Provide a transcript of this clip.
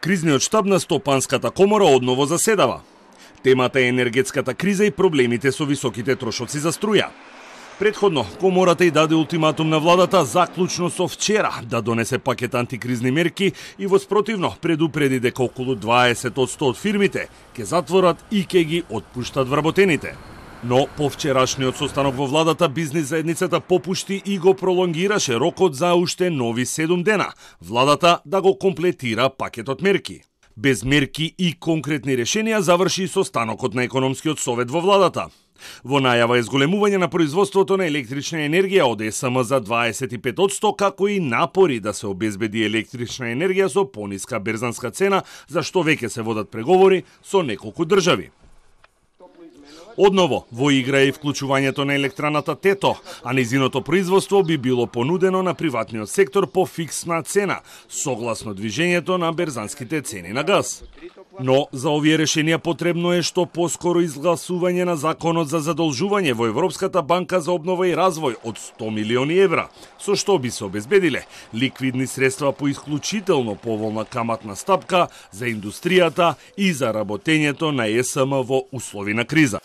Кризниот штаб на Стопанската комора одново заседава. Темата е енергетската криза и проблемите со високите трошоци за струја. Предходно, комората и даде ултиматум на владата заклучно со вчера да донесе пакет антикризни мерки и во спротивно предупреди дека околу 20% од фирмите ќе затворат и ќе ги отпуштат вработените. Но по вчерашниот состанок во владата, бизнис заедницата попушти и го пролонгираше рокот за уште нови 7 дена, владата да го комплетира пакетот мерки. Без мерки и конкретни решенија заврши состанокот на економскиот совет во владата. Во најава е зголемување на производството на електрична енергија од ЕСМ за 25%, како и напори да се обезбеди електрична енергија со пониска берзанска цена, за што веќе се водат преговори со неколку држави. Одново, во игра е и вклучувањето на електраната Тето, а нејзиното производство би било понудено на приватниот сектор по фиксна цена, согласно движењето на берзанските цени на газ. Но за овие решенија потребно е што поскоро изгласување на законот за задолжување во Европската банка за обнова и развој од 100 милиони евра, со што би се обезбедиле ликвидни средства по исклучително поволна каматна стапка за индустријата и за работењето на ЕСМ во услови на криза.